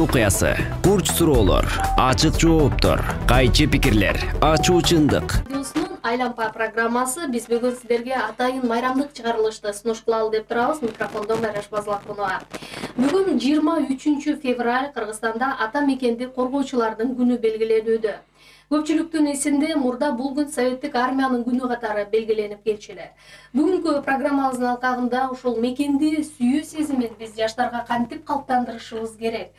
окуясы, курч суроолор, ачык жооптор, кайчы пикирлер, ачуу чындык. Айлампа программасы биз бүгүн сиздерге атайын майрамдык чыгарылышты сунуш кылалы деп турабыз. Микрофондо Майраш Базылакунова. Бүгүн 23 февраль Кыргызстанда ата мекенди коргоочулардын күнү белгиленүүдө. Көпчүлүктүн эсинде мурда бул күн Советтик армиянын күнү катары белгиленип келчү эле. Бүгүнкү программабыздын алкагында ушул мекенди сүйүү сезимин биз жаштарга кантип калыптандырышыбыз керек?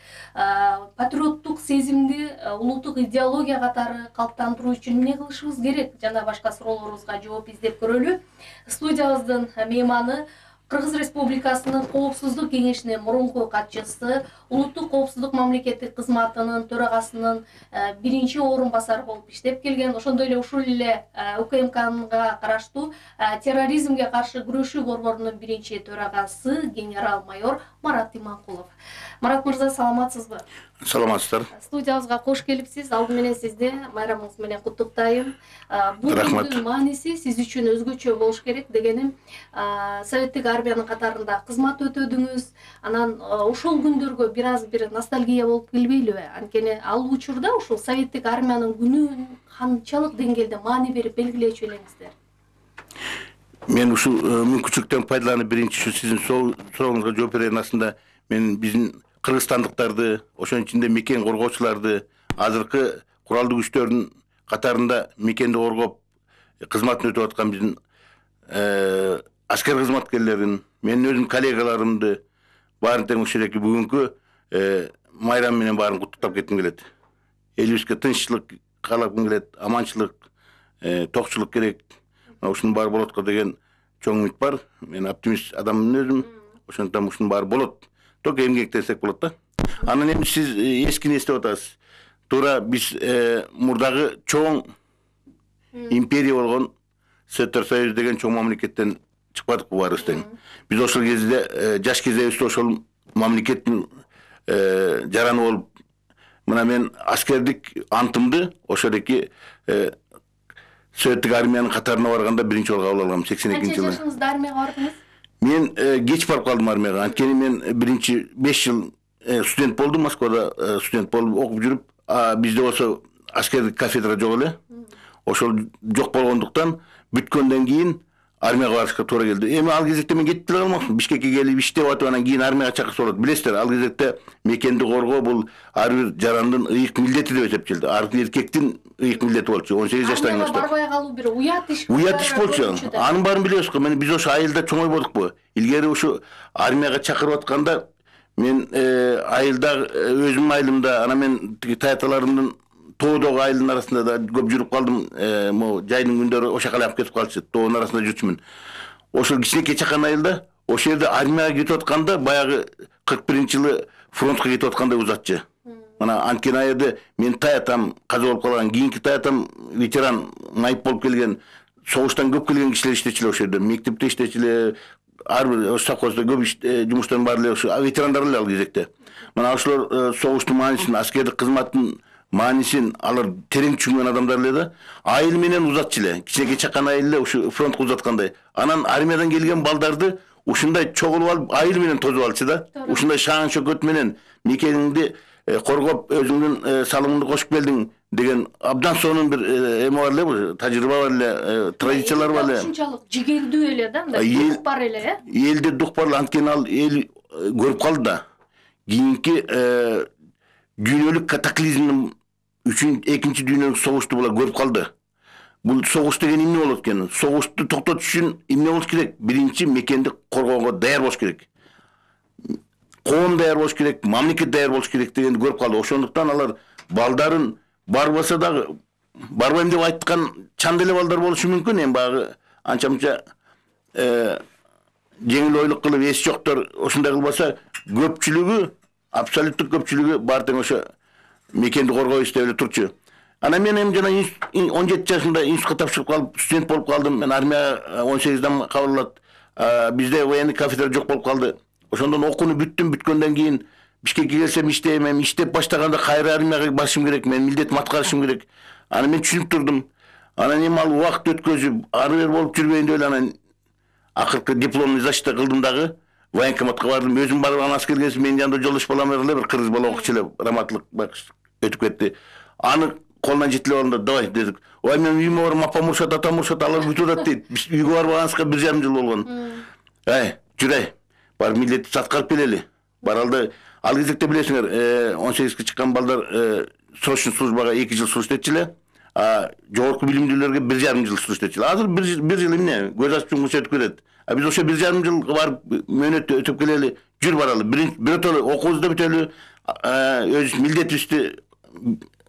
Патриоттук сезимди улуттук идеология катары калыптандыруу үчүн эмне кылышыбыз керек? Жана башка суроолорубузга жооп издеп көрөлү. Студиябыздын мейманы Кыргыз Республикасынын Коопсуздук кеңешинин мурунку катчысы, Улуттук коопсуздук мамлекеттик кызматынын төрагасынын биринчи орун басары болуп иштеп келген, ошондой эле ушул эле УКМКга караштуу терроризмге каршы күрөшүү борборунун биринчи төрагасы генерал-майор Марат Иманкулов. Марат мырза, саламатсызбы? Саламатсыздар. Студиябызга кош келипсиз. Алды менен сизди майрамыңыз менен куттуктайм. Бул күндүн мааниси сиз үчүн өзгөчө болуш керек дегеним, Советтик армиянын катарында кызмат өтөдүңүз. Анан ошол күндөргө бир ностальгия болуп келбейлиби? Анткени ал учурда ушул Советтик армиянын күнүн канчалык деңгээлде маани берип белгилечү элеңиздер? Мен ушул мүмкүнчүлүктөн пайдаланып биринчи сиздин сурооңузга жооп берейин. Асында мен биздин кыргызстандыктарды, ошонун ичинде мекен коргоочуларды, азыркы куралдуу күчтөрдүн катарында мекенди коргоп кызматын өтүп аткан биздин аскер кызматкерлерин, менин өзүм коллегаларымды баарын тең ушул эки бүгүнкү майрам менен баарын куттуктап кетким келет. Элибизге тынччылык каалагым келет, аманчылык, токчулук керек. Ушунун баары болот го деген чоң үмүт бар. Мен оптимист адаммын өзүм. Ошондуктан ушунун баары болот. Ток эмгектенсек болот да. Анан эми сиз эскини эстеп атасыз. Туура биз мурдагы чоң империя болгон Советтер Союзу деген чоң мамлекеттен чыкпадыкпы баарыбыз тең. Биз ошол кезде жаш кезибизде ошол мамлекеттин жараны болуп, мына мен аскердик антымды ошол эки Советтик армиянын катарына барганда биринчи жолу кабыл алгам 82 жылы. Канча жашыңызда армияга бардыңыз? Мен кеч барып калдым армияга. Анткени мен биринчи 5 жыл студент болдум, Москвада студент болуп окуп жүрүп, бизде болсо аскердик кафедра жок эле. Ошол жок болгондуктан бүткөндөн кийин армияга барышка туура келди. Эми ал кезекте мен кетип деле калмакмын. Бишкекке келип иштеп атып анан кийин армияга чакырса болот. Билесиздер, ал кезекте мекенди коргоо бул ар бир жарандын ыйык милдети деп эсептелди. Ар бир эркектин ыйык милдети болчу. 18 жаштан баштап. Барбай калуу бир уят иш. Уят иш болчу. Анын баарын билебиз го. Мен биз ошо айылда чоңойбодукпу? Илгери ушу армияга чакырып атканда мен айылда өзүмдүн айылымда, анан мен тиги таяталарымдын тоодогу айылдын арасында да көп жүрүп калдым. Могу жайдын күндөрү ошо калап кетип калчу. Тоонун арасында жүрчүмүн. Ошол кичинекей чакан айылда ошол жерде армияга кетип атканда баягы 41-жылы фронтко кетип аткандай узатчы. Мына анткени ал жерде мен таятам каза болуп калган, кийинки таятам ветеран, майып болуп келген, согуштан көп келген кишилер иштечү эле ошол жерде. Мектепте иштечү эле, ар бир совхоздо көп жумуштун баары эле ошо ветерандар эле ал кезекте. Мына ошолор согуштун маанисин, аскердик кызматтын маанисин алар терең түшүнгөн адамдар эле да. Айыл менен узатчу эле. Кичинекей чакан айыл эле ушу фронтко узаткандай. Анан армиядан келген балдарды ушундай чогулуп алып айыл менен тозуп алчу да. Ушундай шаан шөкөт менен мекениңди коргоп өзүңдүн салымыңды кошуп келдиң деген абдан сонун бир эме бар эле, тажрыйба бар эле, традициялар бар эле. Ушунчалык жигердүү эле да, мындай дух бар эле, Элде дух бар, анткени ал эл көрүп калды да. Кийинки дүйнөлүк катаклизмдин экинчи дүйнөлүк согушту булар көрүп калды. Бул согуш деген эмне болот экен? Согушту токтотуш үчүн эмне болуш керек? Биринчи мекенди коргоого даяр болуш керек. Коом даяр болуш керек, мамлекет даяр болуш керек дегенди көрүп калды. Ошондуктан алар балдарын барбаса дагы барбайм деп айткан чан деле балдар болушу мүмкүн. Эми баягы анча-мынча жеңил ойлук кылып эс жоктор ошондой кылбаса, көпчүлүгү, абсолюттук көпчүлүгү баары тең ошо мекенди коргойбуз деп эле турчу. Анан мен эми жана 17 жашымда институтка тапшырып калып, студент болуп калдым. Мен армияга 18-дан кабыл алат. Бизде военный кафедра жок болуп калды. Ошондон окууну бүттүм. Бүткөндөн кийин Бишкекке келсем иштейм, эми иштеп баштаганда кайра армияга барышым керек, мен милдетимди аткарышым керек. Анан мен түшүнүп турдум. Анан эми ал убакыт өткөзүп, ары бери болуп жүрбөйүн деп эле анан акыркы дипломный защита кылдым дагы. военкоматка бардым. Өзүм барып аны аскерге келсем, менин жанымда жолдош балам эле бир кыргыз бала окуучу эле, раматтылык өтүп кетти. Аны колунан жетилип алганда давай дедик. Ой, мен үйүмө барам, апам урушат, атам урушат, алар бүтүп атат дейт. Биз үйгө барганыбызга 1,5 жыл болгон. Жүрөй. Бар милдетти саткарып келели. Баралды. Ал кезекте билесиңер, 18-ге чыккан балдар срочный службага 2 жыл служба этчиле. Жогорку билимдүүлөргө 1,5 жыл служба этчиле. Азыр 1 жыл эмне? Көз ачып жумгуча өтүп кетет. Биз ошо 1,5 жыл барып мөөнөттө өтүп келели. Жүр баралы. Бирөтөлү окуубузду бүтөлү, өз милдетибизди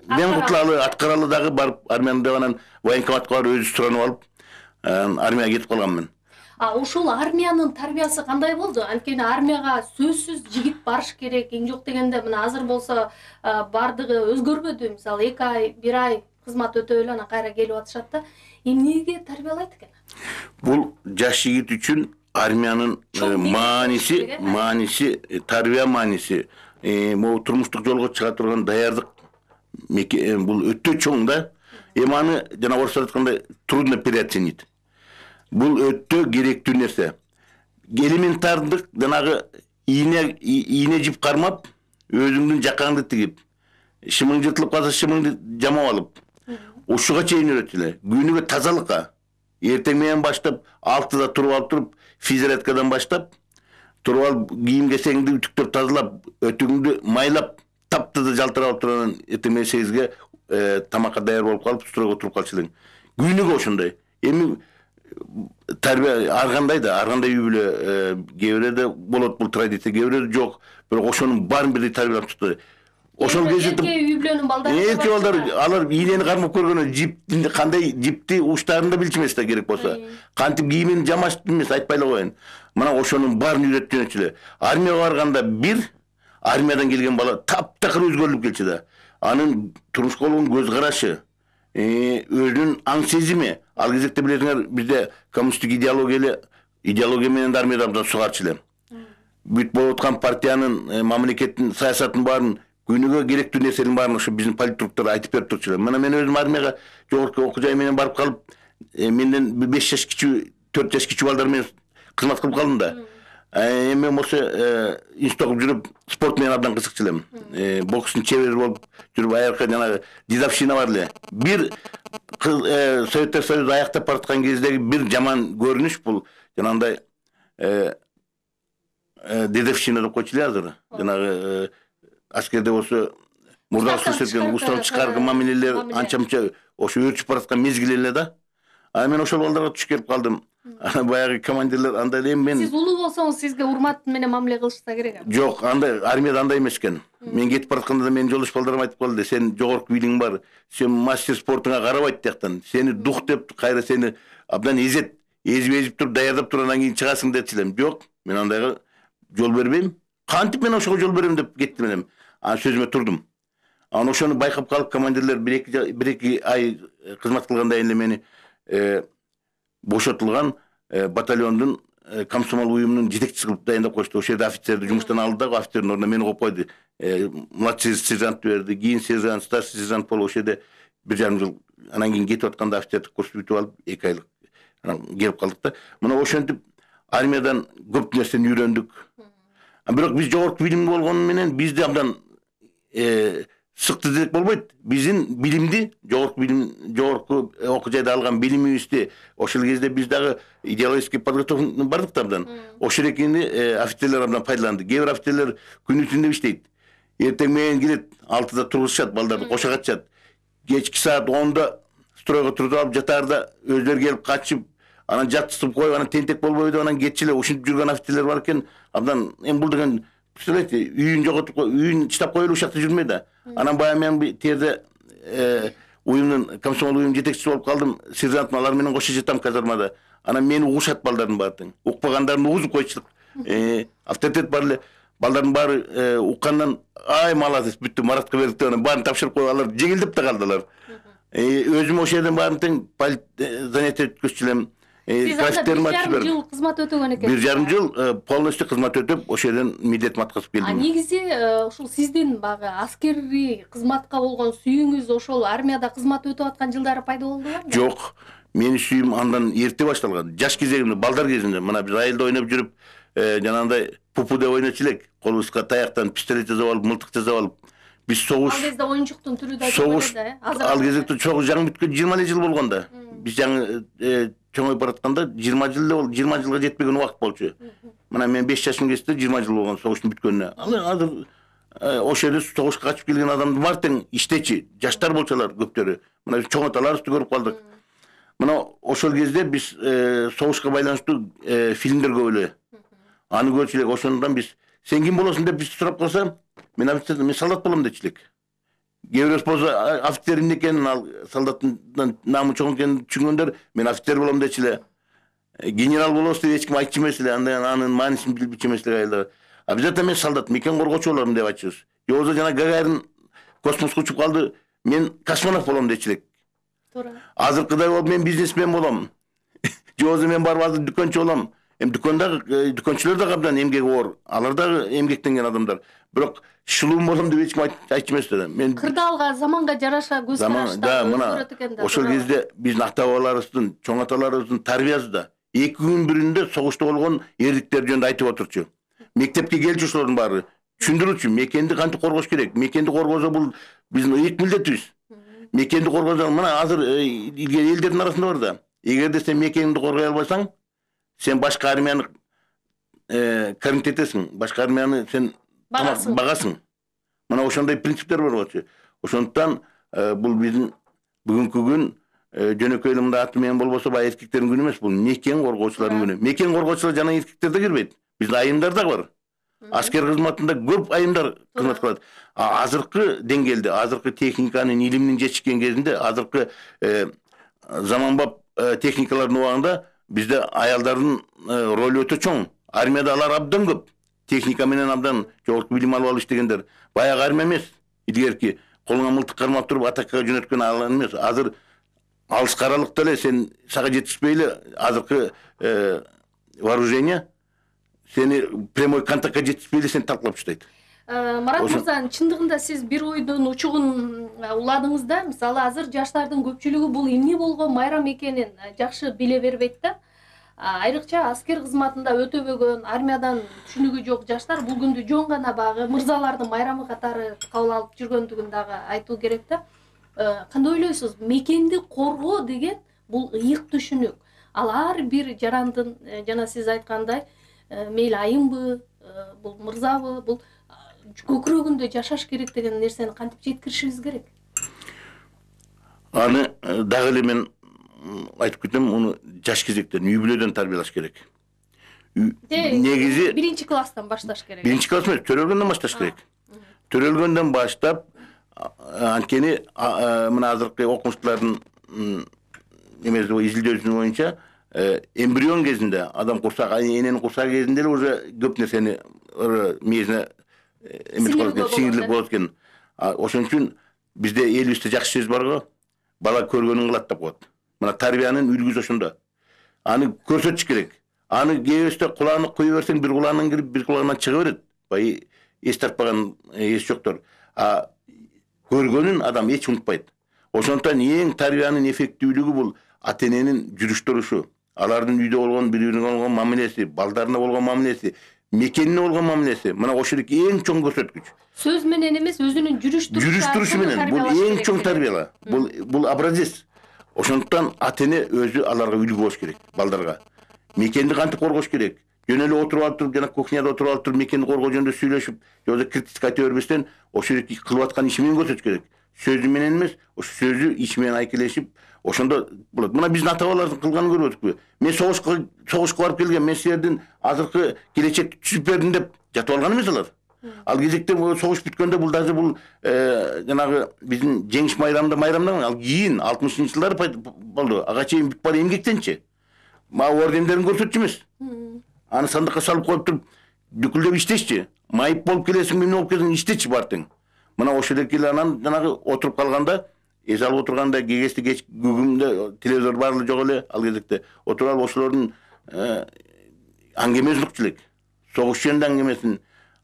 мен кутулалы, аткаралы дагы барып армияда анан военкоматка барып өзү суранып алып, армияга кетип калганмын. Ушул армиянын тарбиясы кандай болду? Анткени армияга сөзсүз жигит барыш керек, эң жок дегенде мына азыр болсо бардыгы өзгөрбөдү. Мисалы 2 ай, 1 ай кызмат өтөп эле анан кайра келип атышат да. Эмнеге тарбиялайт экен? Бул жаш жигит үчүн армиянын мааниси, тарбия мааниси, могу турмуштук жолго чыга турган даярдык бул өтө чоң да. Аны жана орусча айтканда трудно переоценить. Бул өтө керектүү нерсе. Элементардык жанагы ийне жип кармап, өзүңдүн жакаңды тигип, шымың жыртылып калса шымыңды жамап алып, ушуга чейин үйрөтүлө. Күнүгө тазалыкка. Эртең менен баштап 6-да туруп алып туруп, физзарядкадан баштап, туруп алып кийим кесеңди үтүктөп тазалап, өтүгүңдү майлап, таптыда жалтырап турган эртең менен 8-ге тамакка даяр болуп калып, стройго туруп калчу элең. Күнүгө ошондой. Эми тарбия аргандай үй бүлө кээ бирде болот бул традиция, кээ бирде жок. Бирок ошонун баарын бирдей тарбиялап чыкты. Ошол кезде үй бүлөнүн балдары эрке балдар алар ийнени кармап көргөнү, жипти кандай жипти уштарын да билчү эмес да керек болсо. Кантип кийимин жамаш эмес, айтпай эле коеюн. Мына ошонун баарын үйрөттүнчү эле. Армияга барганда бир армиядан келген бала таптакыр өзгөрүлүп келчү да. Анын турмушка болгон көз карашы, өзүнүн аң сезими, ал кезекте билесиңер, бизде коммунисттик идеология менен армияда абдан сугарчу эле. Бүт болуп аткан партиянын, мамлекеттин саясатын баарын, күнүгө керектүү нерсенин баарын ошо биздин политруктар айтып берип турчу эле. Мына мен өзүм армияга жогорку окуу жай менен барып калып, менден 5 жаш кичүү, 4 жаш кичүү балдар менен кызмат кылып калдым да. Эми болсо институт окуп жүрүп спорт менен абдан кызыкчу элем. Бокстун чебери болуп жүрүп аякка жанагы дедовщина бар эле. Бир Советтер Союзу аяктап бараткан кездеги бир жаман көрүнүш бул жанагындай дедовщина деп койчу эле азыр. Жанагы аскерде болсо мурдагы көрсөткөн устав чыкарган мамилелер анча-мынча ошо өрчүп бараткан мезгил эле да. Мен ошол балдарга туш келип калдым. Баягы командирлер андай эле мен. Сиз улуу болсоңуз сизге урмат менен мамиле кылышса керек. Жок, андай армияда андай эмес экен. Мен кетип баратканда да менин жолдош балдарым айтып калды, сен жогорку билиң бар, сен мастер спортуңа карабайт тияктан. Сени дух деп кайра сени абдан эзип туруп даярдап туруп анан кийин чыгасың депчилем. Жок, мен андайга жол бербейм. Кантип мен ошого жол берем деп кеттим элем. Сөзүмө турдум. Анан ошону байкап калып командирлер 1-2 ай кызмат кылгандан кийин мени бошотулган батальондун комсомол уюмунун жетекчиси кылып дайындап коюшту. Ошол жерде офицерди жумуштан алды да, офицердин ордуна мени коюп койду. Младший сержант берди, кийин сержант, старший сержант болуп ошол жерде 1,5 жыл анан кийин кетип атканда офицердик курс бүтүп алып 2 айлык анан келип калдык да. Мына ошентип армиядан көп нерсени үйрөндүк. Бирок биз жогорку билим болгону менен бизди абдан сыкты десек болбойт. Биздин билимди, жогорку окуу жайда алган билимибизди ошол кезде биз дагы идеологический подготовка бардык да абдан. Ошол экени офицерлер абдан пайдаланды. Кээ бир офицерлер күнү түндө иштейт. Эртең менен келет, 6-да тургузушат, балдарды кошагатышат. Кечки саат 10-да стройго тургузуп алып жатаарда өздөрү келип качып, анан жаткызып коюп, анан тентек болбойбу деп анан кетчиле ушинтип жүргөн офицерлер бар экен. Абдан бул деген представляете, үйүн жоготуп, үйүн чыдап коелу ушакта жүрмөй да. Анан баягы мен терде уюмдун комсомол уюм жетекчиси болуп калдым. Сержантым алар менен кошо жатам казармада. Анан мени угушат балдардын баары. Укпагандарын угузуп койчулук. Авторитет бар эле. Балдардын баары уккандан ай молодец, бүттү Маратка бердик деп анан баарын тапшырып коюп алар жеңилдеп да калдылар. Өзүм ошол жерден баарын тең занятие өткөзчү элем. Сиз 1,5 жыл кызмат өтөгөн экенсиз. 1,5 жыл полностью кызмат өтөп, ошол жерден милдетиме аткарып келдим. Негизи ушул сиздин багы аскерий кызматка болгон сүйүүңүз ошол армияда кызмат өтүп аткан жылдары пайда болдубу? Жок. Менин сүйүүм андан эрте башталган. Жаш кезегимде, балдар кезинде, мына биз айылда ойноп жүрүп, жанагындай пупу деп ойночу элек. Колубузга таяктан пистолет жасап алып, мылтык жасап алып. Биз согуш. Ал кезде оюнчуктун түрү да Согуш. Ал кезде чогуу жаңы бүткөн 20 жыл болгон да. Биз жаңы чоңоюп баратканда 20 жыл болду, 20 жылга жетпеген убакыт болчу. Мына мен 5 жашым кезде 20 жыл болгон согуштун бүткөнүнө. Азыр ошол жерде согушка качып келген адамдар бар тең иштечи, жаштар болчулар көптөрү. Мына чоң аталарыбызды көрүп калдык. Мына ошол кезде биз согушка байланыштуу фильмдер көп эле. Аны көрчү элек. Ошондон биз сен ким болосуң деп биз сурап калса, мен солдат болом дечү элек. Кээ бирөөс болсо офицер эмне экенин, ал солдаттын намы чоң экенин түшүнгөндөр, мен офицер болом дечү эле. Генерал болосуз деп эч ким айтчу эмес эле, анын маанисин билчү эмес эле айылдар. А биз мен солдат, мекен коргоочу болом деп айтчубуз. Же болбосо жана Гагарин космоско учуп калды, мен космонавт болом дечү элек. Туура. Азыркыдай болуп мен бизнесмен болом. Же болбосо мен барып азыр дүкөнчү болом. Дүкөнчүлөр да абдан эмгек оор. Алар да эмгектенген адамдар. Бирок шулуум болом деп эч ким айтчу эмес да. Мен кырдаалга, заманга жараша көз караштар өзгөрөт экен да. Ошол кезде биздин ата-бабаларыбыздын, чоң аталарыбыздын тарбиясында 2 күн биринде согушта болгон эрликтер жөнүндө айтып отурчу. Мектепке келчү ошолордун баары түшүндүрүчү, мекенди кантип коргош керек. Мекенди коргоосо бул биздин ыйык милдетибиз. Мекенди коргоосо мына азыр илгери элдердин арасында бар да. Эгерде сен мекениңди коргой албасаң, сен башка армияны кармит этесиң, башка армияны сен багасың. Мына ошондой принциптер бар болчу. Ошондуктан бул биздин бүгүнкү күн жөнөкөй эле мында аты менен болбосо баягы эркектердин күнү эмес, бул мекен коргоочулардын күнү. Мекен коргоочулар жана эркектер да кирбейт. Биздин айымдар да бар. Аскер кызматында көп айымдар кызмат кылат. Азыркы деңгээлде, азыркы техниканын, илимдин жетишкен кезинде, азыркы заманбап техникалардын убагында бизде аялдардын ролу өтө чоң. Армияда алар абдан көп. Техника менен абдан жогорку билим алып иштегендер. Баягы армия эмес. Илгерки колуңа мылтык кармап туруп атакка жөнөткөн ал эмес. Азыр алыс каралыкта эле сен сага жетишпей эле азыркы вооружение сени прямой контактка жетишпей эле сени талкалап таштайт. Марат мырза, чындыгында сиз бир ойдун учугун уладыңыз да. Мисалы азыр жаштардын көпчүлүгү бул эмне болгон майрам экенин жакшы биле бербейт да. Айрыкча аскер кызматында өтөбөгөн, армиядан түшүнүгү жок жаштар бул күндү жөн гана багы мырзалардын майрамы катары кабыл алып жүргөндүгүн дагы айтуу керек да. Кандай ойлойсуз? Мекенди коргоо деген бул ыйык түшүнүк. Ал ар бир жарандын жана сиз айткандай мейли айымбы, бул мырзабы, бул көкүрөгүндө жашаш керек деген нерсени кантип жеткиришибиз керек? Аны дагы эле мен айтып кетем, муну жаш кезектен, үй бүлөдөн тарбиялаш керек. Негизи биринчи класстан башташ керек. Биринчи класс эмес, төрөлгөндөн башташ керек. Төрөлгөндөн баштап, анткени мына азыркы окумуштуулардын изилдөөсүнүн боюнча эмбрион кезинде, адам курсак, эненин курсагы кезинде эле уже көп нерсени мээсине сиңирлик болот экен. Ошон үчүн бизде элибизде жакшы сөз бар го, бала көргөнүн кылат деп коет. Мына тарбиянын үлгүсү ошондо. Аны көрсөтүш керек. Аны кээбесте кулагына кое берсең, бир кулагынан кирип, бир кулагынан чыга берет. Бай эс тартпаган эс жоктор. Көргөнүн адам эч унутпайт. Ошондуктан эң тарбиянын эффектүүлүгү бул ата-эненин жүрүш турушу. Алардын үйдө болгон бири-бирине болгон мамилеси, балдарына болгон мамилеси, мекенине болгон мамилеси. Мына ошол эң чоң көрсөткүч. Сөз менен эмес, өзүнүн жүрүш турушу менен бул эң чоң тарбияла. Бул образец. Ошондуктан ата-эне өзү аларга үлгү болуш керек, балдарга. Мекенди кантип коргош керек? Жөн эле отуруп алып туруп, жана кухняда отуруп алып туруп мекенди коргоо жөнүндө сүйлөшүп, же болбосо критика айта бербестен, ошол кылып аткан иши менен көрсөтүш керек. Сөзү менен эмес, ошо сөзү иши менен айкелешип, ошондо болот. Мына биздин ата-бабалардын кылганын көрүп өттүкпү? Мен согушка барып келген, мен силердин азыркы келечекти түзүп бердим деп жатып алган эмес алар. Ал кезекте согуш бүткөндө бул дагы бул жанагы биздин жеңиш майрамдан ал кийин 60-жылдары болду. Ага чейин бүт бара эмгектенчи. Ордендерин көрсөтчү эмес. Аны сандыкка салып коюп туруп, дүкүлдөп иштешчи. Майып болуп келесиң, эмне болуп келесиң, иштечи бар тең. Мына ошол эле анан жанагы отуруп калганда, эс алып отурганда, кечти күгүмдө телевизор бар эле жок эле ал кезекте. Отуруп алып ошолордун аңгемесин укчу элек. Согуш жөнүндө аңгемесин.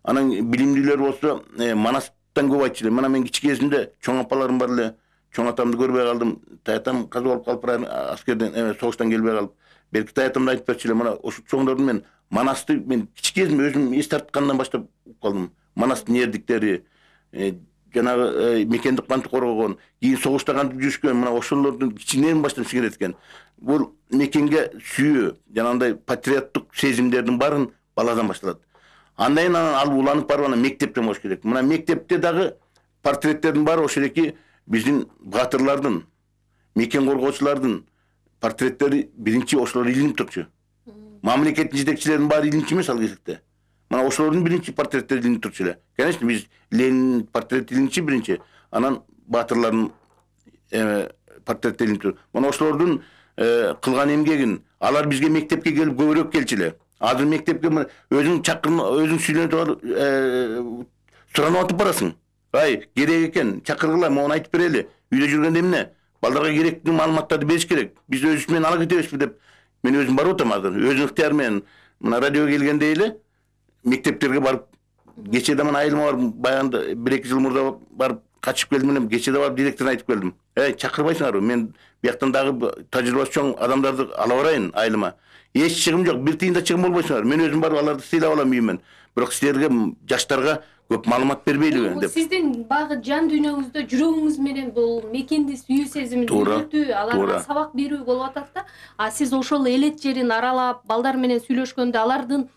Анан билимдүүлөр болсо, Манастан көп айтчу эле. Мына мен кичи кезимде чоң апаларым бар эле. Чоң атамды көрбөй калдым. Таятам каза болуп калып, аскерден, согуштан келбей калып. Белки таятымда айтып берчү эле, мына ошо чоңдордун мен Манасты мен кичи кезимде өзүм эс тарткандан баштап калдым. Манастын эрдиктери, жанагы мекенди кантип коргогон, кийин согушта кантип жүрүшкөн, мына ошолордун кичинен баштап сиңирет экен. Бул мекенге сүйүү, жанагындай патриоттук сезимдердин баарын баладан башталат. Андан кийин ал уланып барып анан мектептен болуш керек. Мына мектепте дагы портреттердин баары ошол эки биздин баатырлардын, мекен коргоочулардын портреттери биринчи ошолор илинип турчу. Мамлекеттин жетекчилеринин баары илинчү эмес ал кезекте. Мына ошолордун биринчи портреттери илинип турчу эле. Конечно, биз Ленин портрети илинчи биринчи, анан баатырлардын портрети илинип тур. Мына ошолордун кылган эмгегин алар бизге мектепке келип көбүрөөк келчү эле. Азыр мектепке өзүң чакырып, өзүң сүйлөнүп суранып атып барасың. Ай, керек экен, чакыргыла, мону айтып берели. Үйдө жүргөндө эмне? Балдарга керектүү маалыматтарды бериш керек. Биз өзүбүз менен ала кетебизби деп мен өзүм барып атам азыр. Өзүм ыктыяр менен мына радиого келгенде эле мектептерге барып, кечеде мына айылыма барып, баягында 1-2 жыл мурда барып качып келдим эле, кечеде барып директоруна айтып келдим. Чакырбайсыңарбы? Мен бияктан дагы тажрыйбасы чоң адамдарды ала барайын айылыма. Эч чыгым жок, бир тыйын да чыгым болбойсуңар. Мен өзүм барып аларды сыйлап алам үйүмөн. Бирок силерге, жаштарга көп маалымат бербейлиби деп. Сиздин багы жан дүйнөңүздө, жүрөгүңүз менен бул мекенди сүйүү сезимин үйрөтүү, аларга сабак берүү болуп атат да. А сиз ошол элет жерин аралап, балдар менен сүйлөшкөндө алардын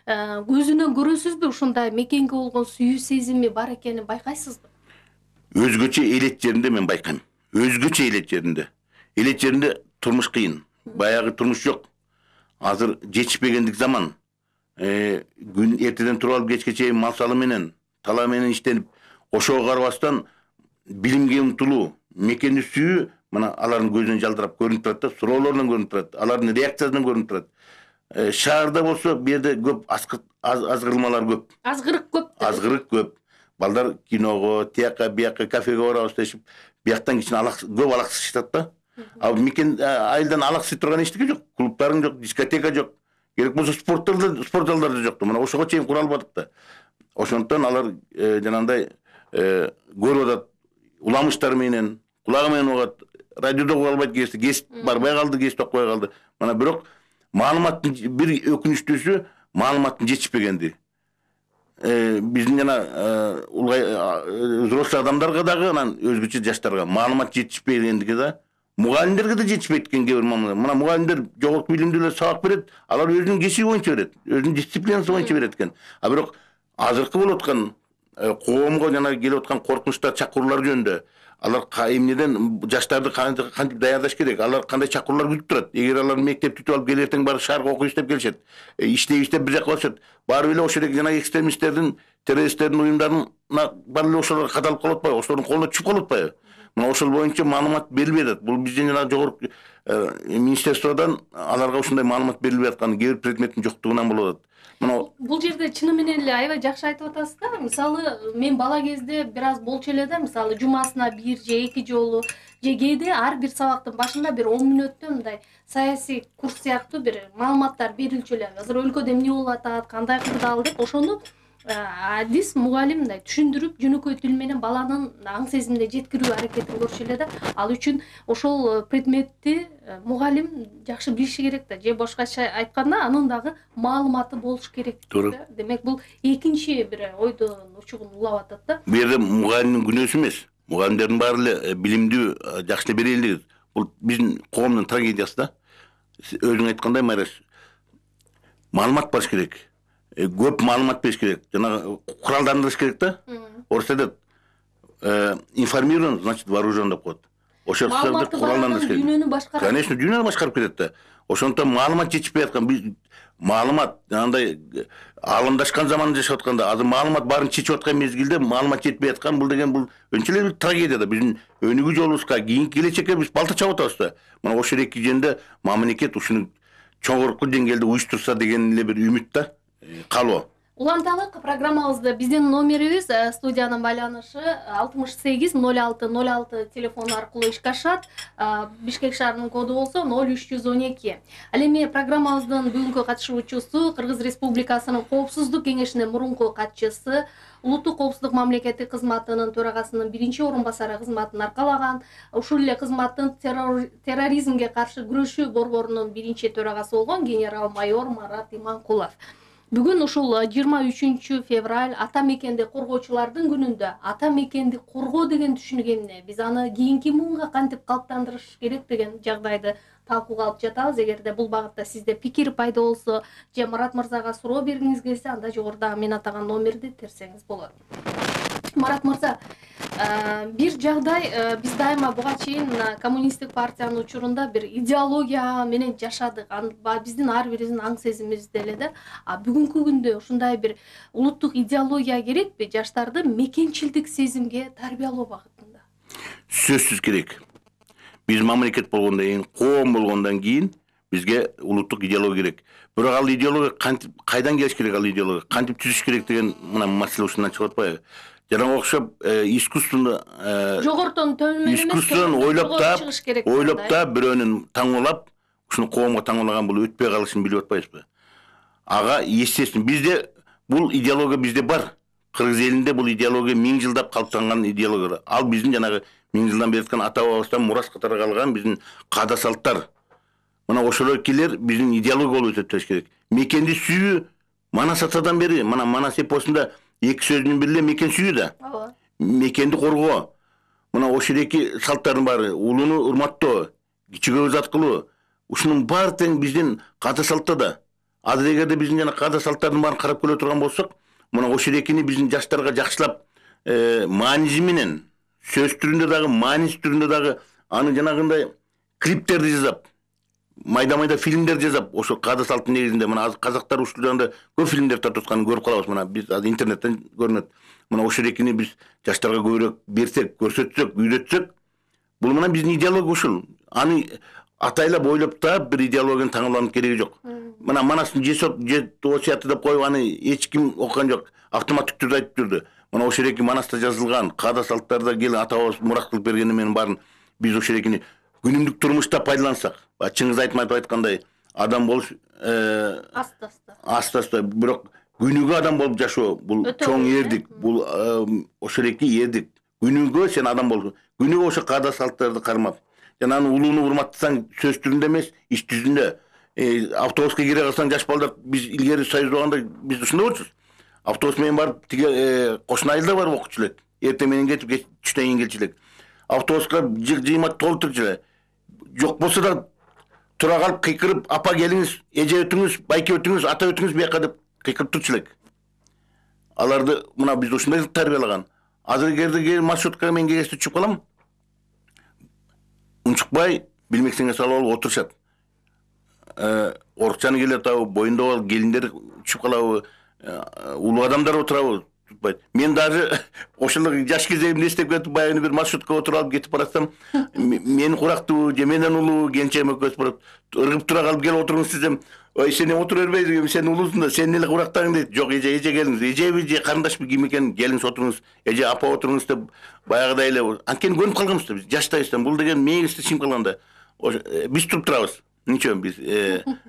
көзүнөн көрөсүзбү ушундай мекенге болгон сүйүү сезими бар экенин байкайсызбы? Өзгөчө элет жеринде мен байкайм. Өзгөчө элет жеринде. Элет жеринде турмуш кыйын. Баягы турмуш жок. Азыр жетишпегендик заман. Күн эртеден туруп алып кечке чейин мал салы менен, тала менен иштенип, ошого карабастан билимге умтулуу, мекенди сүйүү мына алардын көзүнөн жалдырап көрүнүп турат да, суроолорунан көрүнүп турат, алардын реакциясынан көрүнүп турат. Шаарда болсо бу жерде көп азгырылмалар көп. Азгырык көп. Азгырык көп. Балдар киного, тияка, бияка, кафеге барабыз дешип, бияктан кичине көп алаксышат да. А мекен айылдан алаксый турган эчтеке жок, клубтарың жок, дискотека жок. Керек болсо спорт залдары жокту. Мына ошого чейин кура албадык да. Ошондон алар жанагындай көрүп атат, уламыштар менен, кулагы менен угат, радиодо уга албайт кез барбай калды, кез токпой калды. Мына бирок маалыматтын бир өкүнүчтүүсү маалыматтын жетишпегенди. Биздин жана взрослый адамдарга дагы, анан өзгөчө жаштарга маалымат жетишпегендиги да. Мугалимдерге да жетишпейт экен кээ бир маамиле. Мына мугалимдер жогорку билимдүүлөр сабак берет, алар өзүнүн кесиби боюнча берет, өзүнүн дисциплинасы боюнча берет экен. А бирок азыркы болуп аткан коомго жана келип аткан коркунучтар, чакыруулар жөнүндө алар эмнеден жаштарды кантип даярдаш керек, алар кандай чакыруулар күтүп турат. Эгер алар мектеп бүтүп алып келертең барып шаарга окуйбуз деп келишет, иштейбиз деп бир жака барышат, барып эле ошол жана экстремисттердин, террористтердин уюмдарына барып эле ошолорго кадалып калып атпайбы, ошолордун колуна түшүп калып атпайбы? Мына ошол боюнча маалымат берилбей атат. Бул биздин жана жогорку министерстводон аларга ушундай маалымат берилбей атканы кээ бир предметтин жоктугунан болуп атат. Мына бул жерде чыны менен эле аябай жакшы айтып атасыз да. Мисалы, мен бала кезде бир аз болчу эле да, мисалы жумасына 1 же 2 жолу же кээде ар бир сабактын башында бир 10 мүнөттө мындай саясий курс сыяктуу бир маалыматтар берилчү эле. Азыр өлкөдө эмне болуп атат, кандай кырдаал деп ошону адис мугалим мындай түшүндүрүп, жөнөкөй тил менен баланын аң сезимине жеткирүү аракетин көрүшү эле да. Ал үчүн ошол предметти мугалим жакшы билиши керек да. Же башкача айтканда, анын дагы маалыматы болуш керек да. Демек бул экинчи бир ойдон учугун улап атат да. Бу жерде мугалимдин күнөөсү эмес. Мугалимдердин баары эле билимдүү, жакшы эле бере элек. Бул биздин коомдун трагедиясы да. Өзүң айткандай, Майраш, маалымат барыш керек. Көп маалымат бериш керек. Жана куралдандырыш керек да. Орусча айтат, информирован, значит вооружен деп коет. Ошол куралдандырыш керек. Дүйнөнү башкарат. Конечно, дүйнөнү башкарып кетет да. Ошондон маалымат жетишпей аткан, биз маалымат андай алымдашкан заманда жашап атканда, азыр маалымат баарын чечип аткан мезгилде маалымат жетпей аткан, бул деген бул өнчө эле бир трагедия да. Биздин өнүгүү жолубузга, кийинки келечекке биз балта чабып атабыз да. Мына ошол эки жерде мамлекет ушуну чоңорку деңгээлде уюштурса деген эле бир үмүт да. Калоо. Уланталык программабызды биздин номерибиз студиянын байланышы 68 06 06 телефону аркылуу ишке ашат. Бишкек шаарынын коду болсо 0312. Ал эми программабыздын бүгүнкү катышуучусу Кыргыз Республикасынын Коопсуздук кеңешинин мурунку катчысы, Улуттук коопсуздук мамлекеттик кызматынын төрагасынын биринчи орун басары кызматын аркалаган, ушул эле кызматтын терроризмге каршы күрөшүү борборунун биринчи төрагасы болгон генерал-майор Марат Иманкулов. Бүгүн ушул 23 февраль ата мекенди коргоочулардын күнүндө ата мекенди коргоо деген түшүнүк эмне? Биз аны кийинки муунга кантип калыптандырыш керек деген жагдайды талкууга алып жатабыз. Эгерде бул багытта сизде пикир пайда болсо же Марат мырзага суроо бергиңиз келсе, анда жогоруда мен атаган номерди терсеңиз болот. Марат мырза, бир жагдай биз дайыма буга чейин коммунисттик партиянын учурунда бир идеология менен жашадык. Биздин ар бирибиздин аң сезимибизде эле да. Бүгүнкү күндө ушундай бир улуттук идеология керекпи жаштарды мекенчилдик сезимге тарбиялоо багытында? Сөзсүз керек. Биз мамлекет болгондон кийин, коом болгондон кийин бизге улуттук идеология керек. Бирок ал идеология кантип кайдан келиш керек, ал идеология кантип түзүш керек деген мына маселе ушундан чыгып атпайбы? Жанага окшоп искусственно жогортон төмөн эмес, искусственно ойлоп таап бирөөнүн таңоолап, ушуну коомго таңоолаган бул өтпөй калышын билип атпайбызбы? Ага, естественно, бизде бул идеология бизде бар. Кыргыз элинде бул идеология 1000 жылдап калыптанган идеология. Ал биздин жанагы 1000 жылдан бери жаткан ата бабабыздан мурас катары калган биздин каада салттар. Мына ошолор келер биздин идеология болуп эсептелиш керек. Мекенди сүйүү Манас атадан бери, мына Манас эпосунда эки сөзүнүн бири эле мекен сүйүү да. Мекенди коргоо. Мына ошол эки салттардын баары, улууну урматтоо, кичүүгө ызат кылуу, ушунун баары тең биздин каада салтта да. Азыр эгерде биздин жана каада салттардын баарын карап көрө турган болсок, мына ошол экини биздин жаштарга жакшылап мааниси менен, сөз түрүндө дагы, мааниси түрүндө дагы аны жанагындай клиптерди жасап, майда фильмдер жасап, ошо каада салттын негизинде мына азыр казактар ушул жагында көп фильмдер тартып атканын көрүп калабыз. Мына биз азыр интернеттен көрүнөт. Мына ошол экини биз жаштарга көбүрөөк берсек, көрсөтсөк, үйрөтсөк, бул мына биздин идеология ушул. Аны атайлап ойлоп таап бир идеологияны таңууланып кереги жок. Мына Манастын осуяты деп коюп аны эч ким окуган жок. Автоматтык түрдө айтып жүрдү. Мына ошол эки Манаста жазылган каада салттарда кел ата бабабыз мурас кылып бергени менен баарын биз ошол экини күнүмдүк турмушта пайдалансак, Чыңгыз Айтматов айткандай, адам болуш аста-аста, бирок күнүгө адам болуп жашоо бул чоң эрдик, бул ошол эки эрдик. Күнүгө сен адам бол, күнүгө ошо каада салттарды кармап, жана аны улууну урматтасаң сөз түрүндө эмес, иш жүзүндө. Автобуска кире калсаң жаш балдар, биз илгери союз болгондо биз ушундай болчубуз. Автобус менен барып тиге кошуна айылда барып окучу элек. Эртең менен кетип, түштөн кийин келчү элек. Автобуска жыймат толуп турчу эле. Жок болсо да тура калып кыйкырып, апа келиңиз, эже өтүңүз, байке өтүңүз, ата өтүңүз бияка деп кыйкырып турчу элек. Аларды мына биз ушундай тарбиялаган. Азыр эгерде маршруткага мен кеңеште түшүп калам, унчукпай билмексеңе салып алып отурушат. Орукчаны келе атабы, боюнда бол келиндер түшүп калабы, улуу адамдар отурабы, tutmaydı. Men даже ошол жаш кезегимде эстеп кетип баягы бир маршруткага отуруп алып кетип баратсам, мени курактуу же менден улуу келинчегим экөөбүз барып ыргып тура калып келип отуруңуз десем, ой сен отура бербейсиң, сен улуусуң да, сен эле курактаң дейт. Жок, эже келиңиз, эжеби же карындашпы ким экен, келиңиз отуруңуз, эже апа отуруңуз деп баягыдай эле анткени көнүп калганбыз да биз жаштайбыздан. Бул деген мээңизде чыгып калганда биз туруп турабыз. Ничего биз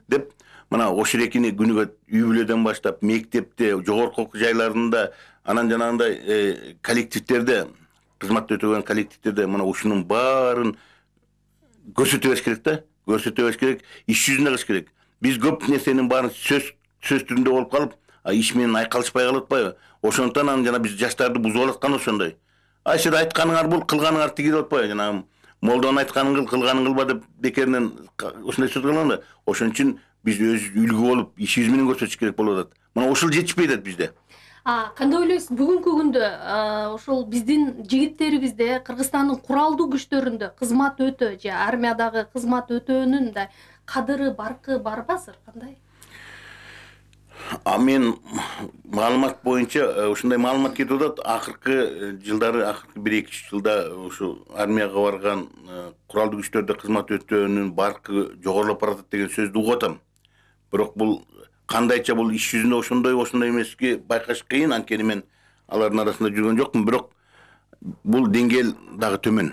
деп мына ошол экини күнүгө үй бүлөдөн баштап мектепте, жогорку окуу жайларында, анан жанагындай коллективдерде, кызматта өтөгөн коллективдерде мына ушунун баарын көрсөтө бериш керек да, көрсөтө бериш керек, иш жүзүндө кылыш керек. Биз көп нерсенин баарын сөз түрүндө болуп калып, иш менен айкалышпай калып атпайбы? Ошондуктан анан жана биз жаштарды бузуп аткан ошондой. Сен айтканыңар бул, кылганыңар тиги деп атпайбы? Жанагы молдонун айтканын кыл, кылганын кылба деп бекеринен ушундай сөз кылган да. Ошон үчүн биз өз үлгү болуп, ишибиз менен көрсөтүш керек болуп атат. Мына ушул жетишпей атат бизде. Кандай ойлойсуз, бүгүнкү күндө ошол биздин жигиттерибизде Кыргызстандын куралдуу күчтөрүндө кызмат өтө же армиядагы кызмат өтөөнүн да кадыры баркы барбы азыр кандай? Мен маалымат боюнча ушундай маалымат кетип атат. Акыркы жылдары, акыркы 1-2 жылда ушу армияга барган куралдуу күчтөрдө кызмат өтөөнүн баркы жогорулап баратат деген сөздү угуп атам. Бирок бул кандайча бул иш жүзүндө ошондой эмески байкаш кыйын, анткени мен алардын арасында жүргөн жокмун, бирок бул деңгээл дагы төмөн.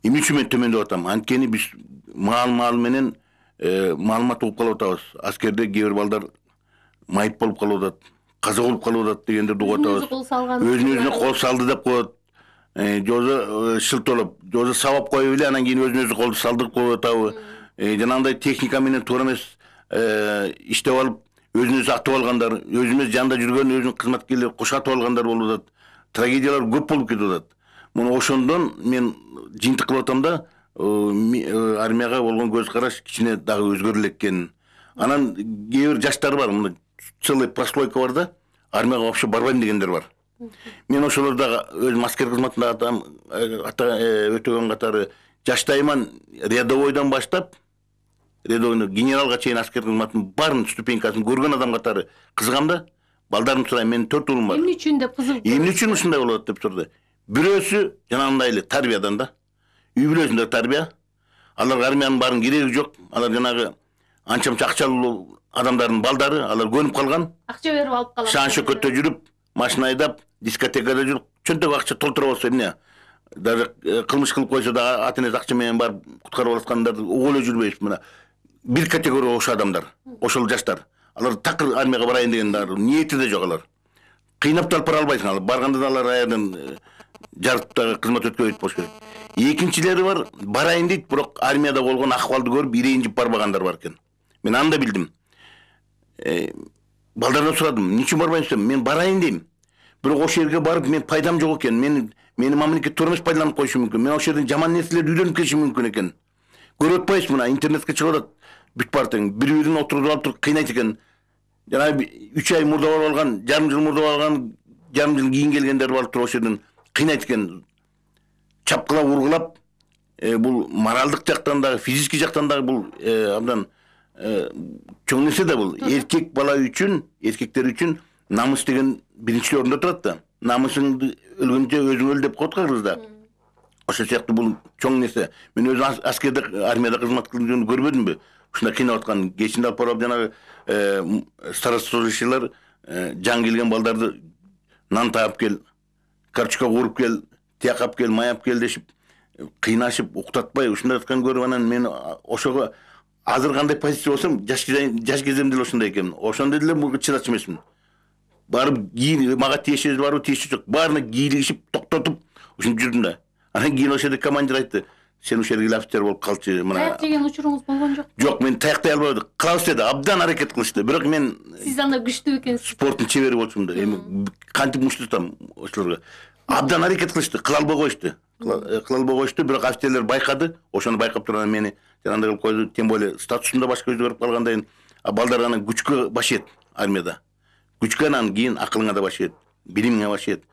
Эмне үчүн мен төмөн деп атам? Анткени биз маал менен маалымат угуп калып атабыз. Аскерде кээ бир балдар майып болуп калып атат, каза болуп калып атат дегендерди угуп атабыз. Өзүнө кол салды деп коет. Жозо шылтолоп, жозо сабап коюп эле, анан кийин өзүнө колду салдырып коюп атабы. Жанагындай техника менен туура эмес иштеп алып, өзүнө атып алгандар, өзүмүз жанында жүргөн өзүнүн кызматкерлери кошатып алгандар болуп атат. Трагедиялар көп болуп кетип атат. Муну ошондон мен жыйынтык кылып атам да, армияга болгон көз караш кичине дагы өзгөрүлөт экен. Анан кээ бир жаштар бар, мына целый прослойка бар да, армияга вообще барбайм дегендер бар. Мен ошолор дагы өзүм аскер кызматында өтөгөн катары жаштайман, рядовойдон баштап рядовойдон генералга чейин аскер кызматтын баарын ступенькасын көргөн адам катары кызыгам да. Балдарым сурайм, менин 4 уулум бар. Эмне үчүн деп кызыгып? Эмне үчүн ушундай болот деп сурду. Бирөөсү жанагындай эле тарбиядан да. Үй бүлөсүндө тарбия. Аларга армиянын баарын кереги жок. Алар жанагы анча-мынча акчалуу адамдардын балдары, алар көнүп калган. Акча берип алып калат. Шан-шөкөттө жүрүп, машина айдап, дискотекада жүрүп, чөнтөк акча толтура болсо эмне? Даже кылмыш кылып койсо да ата-энеси акча менен барып куткарып алаткандарды угуп эле жүрбөйбүз. Мына бир категория ошол адамдар, ошол жаштар. Алар такыр армияга барайын деген ниети да жок алар. Кыйнап да алып бара албайсың. Алар барганда да алар аярдан жарыктагы кызмат өткөрүп болуш керек. Экинчилери бар, барайын дейт, бирок армияда болгон акыбалды көрүп ирейинжип барбагандар бар экен. Мен аны да билдим. Балдардан сурадым, эмне үчүн барбайсың? Мен барайын дейм. Бирок ошол жерге барып мен пайдам жок экен. Мени мамлекет туура эмес пайдаланып коюшу мүмкүн. Мен ошол жерден жаман нерселерди үйрөнүп келишим мүмкүн экен. Көрүп атпайсызбы, мына интернетке чыгып атат. Бүт бартың бири-бирин отуртуп алып туруп кыйнайт экен. Жана 3 ай мурда болуп алган, жарым жыл мурда болуп алган, жарым жыл кийин келгендер барып туруп ошол жерден кыйнайт экен. Чапкылап, ургулап, бул моралдык жактан дагы, физический жактан дагы бул абдан чоң нерсе да бул. Эркек бала үчүн, эркектер үчүн намыс деген биринчи орунда турат да. Намысыңды өлгөнчө өзүң өл деп коет кыргызда. Ошол сыяктуу бул чоң нерсе. Мен өзүм аскерде, армияда кызмат кылганда көрбөдүмбү? Ушундай кыйнап аткан, кечинде алып барып жанагы старослужащийлар жан келген балдарды нан таап кел, карточка куруп кел, тияк алып кел, май алып кел дешип, кыйнашып, уктатпай ушундай аткан көрүп анан мен ошого азыр кандай позиция болсом, жаш кезимде эле ошондой экенмин. Ошондой деле буга чыдачу эмесмин. Барып мага тиешеси барбы, тиешеси жок. Баарына кийлигишип, токтотуп ушинтип жүрдүм да. Анан кийин ошол жерде командир айтты: "Сен ушул жерге офицер болуп калчы." Таяк жеген учуруңуз болгон жок? Жок, мен таяктай албадым. Кылабыз деди, абдан аракет кылышты. Бирок мен сиз анда күчтүү экенсиз. Спорттун чебери болчумун да. Эми кантип мушту тутам ошолорго. Абдан аракет кылышты, кыла албай коюшту. Кыла албай коюшту, бирок офицерлер байкады. Ошону байкап турган мени жанагындай кылып койду. Тем более статусум да башка өзгөрүп калгандайын. Балдар анан күчкө баш ийет армияда. Күчкө анан кийин акылыңа да баш ийет, билимиңе баш ийет.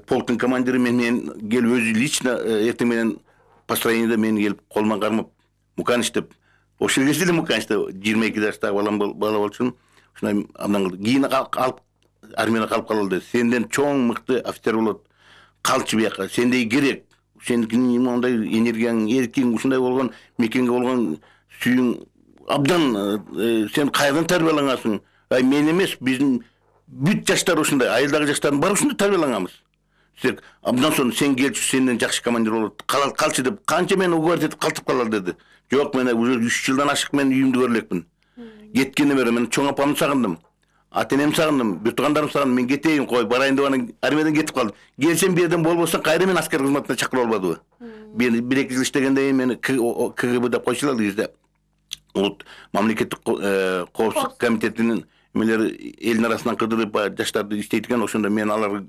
Полктун командири менен келип өзү лично эртең менен построениеде мени келип колуман кармап, "Муканыч" деп. Ошол кезде эле Муканыч деп 22 жаштагы бала болчумун. Ушундай абдан кылды. Кийин алып армияда калып калды. Сенден чоң мыкты офицер болот. Калчы бияка. Сендей керек. Сенин мондай энергияң, эркиң ушундай болгон, мекенге болгон сүйүң абдан сен кайдан тарбиялангансың? Мен эмес, биздин бүт жаштар ушундай, айылдагы жаштардын баары ушундай тарбияланганбыз. Сен абдан соң сен келчү, сенден жакшы командир болот. Калчы деп, канча мени уговор этип калтырып калалар деди. Жок, мен уже 3 жылдан ашык мен үйүмдү көрө элекмин. Кеткене бери мен чоң апамды сагындым. Ата-энемди сагындым, бүт туугандарымды сагындым. Мен кетейин, кой, барайын деп анан армиядан кетип калдым. Келсем бир жерден болбосо кайра мен аскер кызматына чакырып албадыбы? Мен 1-2 жыл иштегенден кийин мени КГБ деп койчулар кезде. Улут мамлекеттик коопсуздук комитетинин эмелери элдин арасынан кыдырып жаштарды иштейт экен. Ошондо мен алар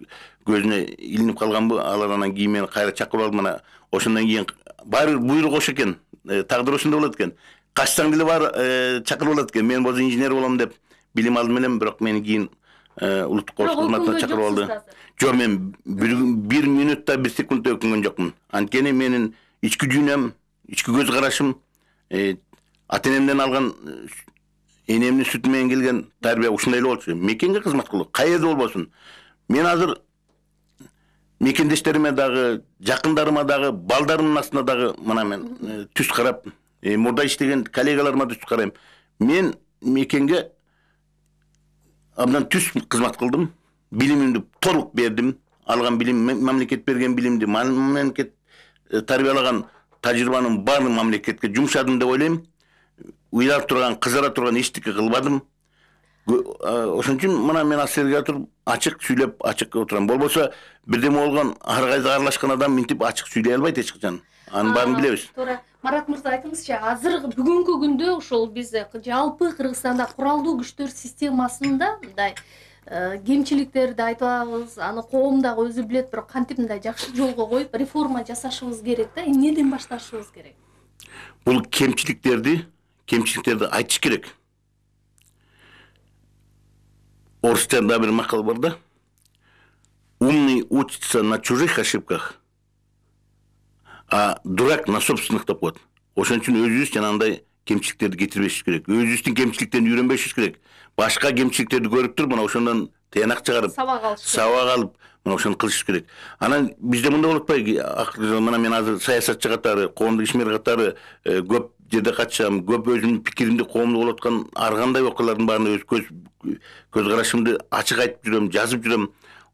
көзүнө илинип калганбы, алар анан кийин мени кайра чакырып алып, мына ошондон кийин баары буйрук ошо экен. Тагдыр ошондой болот экен. Качсаң деле бар чакырып алат экен. Мен болсо инженер болом деп билим алдым элем, бирок мени кийин улуттук коопсуздук кызматына чакырып алды. Жок, мен 1 минутта 1 секундта өкүнгөн жокмун. Анткени менин ички дүйнөм, ички көз карашым, ата-энемден алган энемдин сүтү менен келген тарбия ушундай эле болчу. Мекенге кызмат кылуу, кайерде болбосун. Мен азыр мекендештериме дагы, жакындарыма дагы, балдарымдын астына дагы мына мен түз карап, мурда иштеген коллегаларыма түз карайм. Мен мекенге абдан түз кызмат кылдым. Билимимди толук бердим. Алган билим, мамлекет берген билимди, мамлекет тарбиялаган тажрыйбанын баарын мамлекетке жумшадым деп ойлойм. Уйлап турган, кызара турган эчтеке кылбадым. Ошон үчүн мына мен асерге туруп ачык сүйлөп, ачык отурам. Болбосо бирдеме болгон ар кайда аралашкан адам минтип ачык сүйлөй албайт эч качан. Анын баарын билебиз. Туура. Марат мырза, айтыңызчы, азыр бүгүнкү күндө ушул биз жалпы Кыргызстанда куралдуу күчтөр системасында мындай кемчиликтерди айтабыз, аны коом дагы өзү билет, бирок кантип мындай жакшы жолго коюп реформа жасашыбыз керек да, эмнеден башташыбыз керек? Бул кемчиликтерди айтыш керек. Орыстарда бир макал бар да. Умный учится на чужих ошибках, а дурак на собственных деп коет. Ошон үчүн өзүбүз жанагындай кемчиликтерди кетирбешибиз керек. Өзүбүздүн кемчиликтерин үйрөнбешибиз керек. Башка кемчиликтерди көрүп туруп, мына ошондон тыянак чыгарып, сабак алып, мына ошону кылышыбыз керек. Анан бизде мындай болуп атпайбы? Мына мен азыр саясатчы катары, коомдук ишмер катары көп жерде катышам, көп өзүмдүн пикиримди коомдо болуп аткан ар кандай окуялардын баарына өз көз карашымды ачык айтып жүрөм, жазып жүрөм.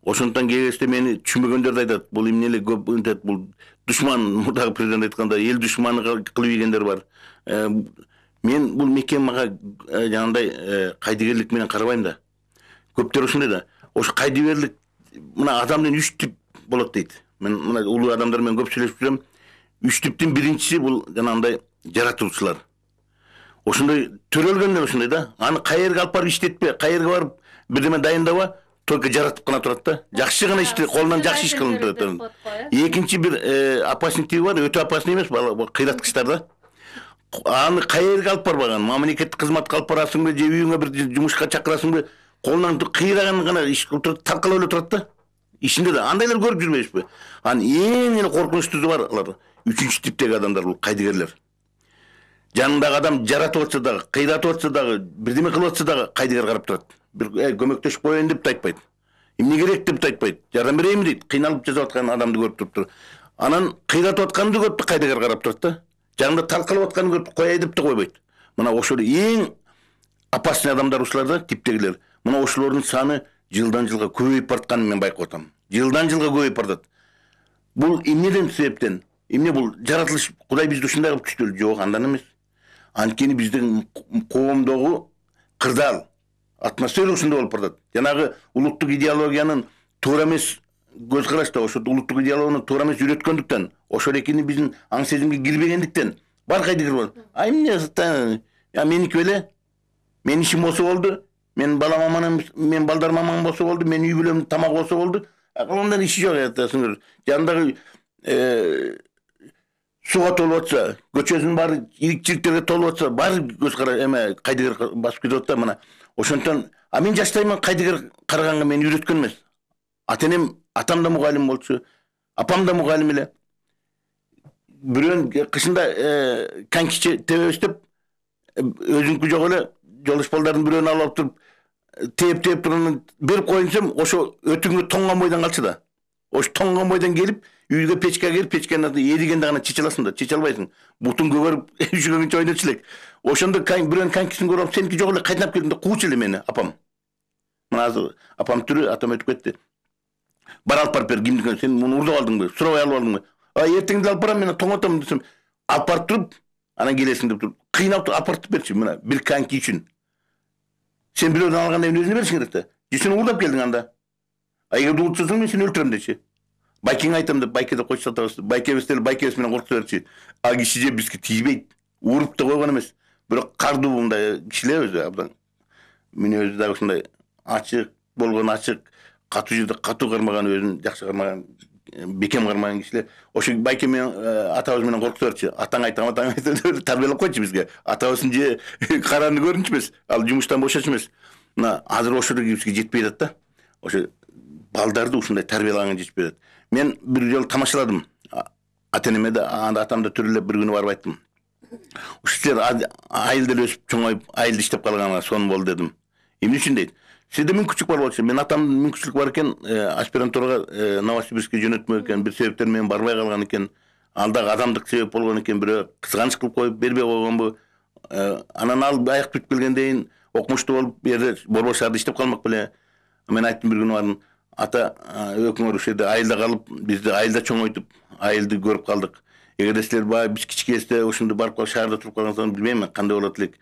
Ошондон кээ кезде мени түшүнбөгөндөр айтат, бул эмне эле көп интет, бул душман, мурдагы президент айткандай, эл душманы кылып ийгендер бар. Мен бул мекен мага жанагындай кайдыгерлик менен карабайм да. Көптөр ушундай да. Ошо кайдыгерлик мына адамдын 3 тип болот дейт. Мен мына улуу адамдар менен көп сүйлөшүп жүрөм. 3 типтин биринчиси бул жанагындай жаратуучулар. Ошондой төрөлгөндөр ошондой да. Аны кайерге алып барып иштетпе, кайерге барып бирдеме дайындабы, только жаратып гана турат да. Жакшы гана ишти, колунан жакшы иш кылынып турат. Экинчи бир опасный тиби бар, өтө опасный эмес, кыйраткычтар да. Аны кайерге алып барбаган, мамлекеттик кызматка алып барасыңбы, же үйүңө бир жумушка чакырасыңбы, колунан кыйраган гана иш кылып турат, таркалап эле турат да. Ишинде да андайлар көрүп жүрбөйсүзбү? Анын эң эле коркунучтуусу бар алар. 3-үнчү типтеги адамдар бул кайдыгерлер. Жанындагы адам жаратып атса дагы, кыйратып атса дагы, бирдеме кылып атса дагы кайдыгер карап турат. Бир көмөктөшүп коеюн деп да айтпайт. Эмне керек деп да айтпайт. Жардам берейинби дейт. Кыйналып жасап аткан адамды көрүп туруптур. Анан кыйратып атканды көрүп кайдыгер карап турат да. Жанында талкалап атканын көрүп кояй деп да койбойт. Мына ошол эң опасный адамдар ушулар да, типтегилер. Мына ошолордун саны жылдан жылга көбөйүп баратканын мен байкап атам. Жылдан жылга көбөйүп барат. Бул эмнеден себептен? Эмне бул жаратылыш Кудай бизди ушундай кылып түштүрдү? Жок, андан эмес. Анткени биздин коомдогу кырдаал атмосфера ушундай болуп барат. Жанагы улуттук идеологиянын туура эмес көз карашта, ошо улуттук идеологияны туура эмес үйрөткөндүктөн, ошол экени биздин аң сезимге кирбегендиктен бар кайдыгер болот. Эмне? Меники беле? Менин ишим болсо болду. Мен балам аман, мен балдарым аман болсо болду. Мен үй бүлөм тамак болсо болду. Кылымдан иши жок айтасыңар. Жандагы суга толуп атса, көчөсүнүн баары ирик-чириктерге толуп атса, баары көз кара эме кайдыгер басып кетип атат да мына. Ошондон мен жаштайыман кайдыгер караганга мени үйрөткөн эмес. Ата-энем, атам да мугалим болчу, апам да мугалим эле. Бирөөнүн кышында конькиче тебебиз деп өзүнкү жок эле жолдош балдардын бирөөнү алып туруп тээп турган берип коюн десем, ошо өтүңгө тоңгон бойдон калчу да. Ошо тоңгон бойдон келип, үйгө печке келип, печкени эригенде гана чече аласың да, чече албайсың. Бутун көгөрүп, үшүгөнгөнчө ойночу элек. Ошондо бирөөнүн конькисин көрүп, сеники жок эле кайтап келдим да куучу эле мени апам. Мына азыр апам тирүү, атам өтүп кетти. Бар алып барып бер, кимдики, сен муну урдуп алдыңбы, сурабай алып алдыңбы? Эртеңде алып барам, мен тоңотом десем, алып барып туруп, анан келесиң деп туруп, кыйнап алып барып берчи, мына бир коньки үчүн. Сен бирөөдөн алганда өзүнө беришиң керек да. Же сен урдап келдиң анда. Эгерде урдусаң, мен сени өлтүрөм дечи. Байкеңе айтам деп, байке деп койчу сатабыз. Байкебиз деле байкебиз менен коркута берчи. А киши же бизге тийбейт. Уруп да койгон эмес. Бирок кардуу мындай кишилер өзү абдан. Мүнөзү дагы ушундай ачык болгон, ачык, катуу жерде катуу кармаган, өзүн жакшы кармаган, бекем кармаган кишилер. Ошо байке менен атабыз менен коркута берчи. Атаң айтам деп тарбиялап койчу бизге. Атабыздын же караны көрүнчү эмес. Ал жумуштан бошочу эмес. Мына азыр ошол бизге жетпей атат да. Ошо балдарды ушундай тарбиялаган жетпей атат. Мен бир жолу тамашаладым. Ата-энеме да, атам да төрөлөп бир күнү барып айттым. Ушу силер айыл деле өсүп чоңоюп, айылда иштеп калганга сонун болду дедим. Эмне үчүн дейт? Сизде мүмкүнчүлүк бар болчу. Мен атамдын мүмкүнчүлүгү бар экен, аспирантурага Новосибирскке жөнөтмөк экен, бир себептер менен барбай калган экен. Ал дагы адамдык себеп болгон экен, бирөө кызганыч кылып коюп бербей койгонбу. Анан ал аяк бүтүп келгенден кийин окумуштуу болуп бу жерде Борбор шаарда иштеп калмак беле. Мен айттым бир күнү бардым. Ата өкмөр ушул жерде айылда калып, бизди айылда чоңойтуп, айылды көрүп калдык. Эгерде силер баягы биз кичикесте ошондо барып калып шаарда туруп калгансаңар билбейм кандай болот элек.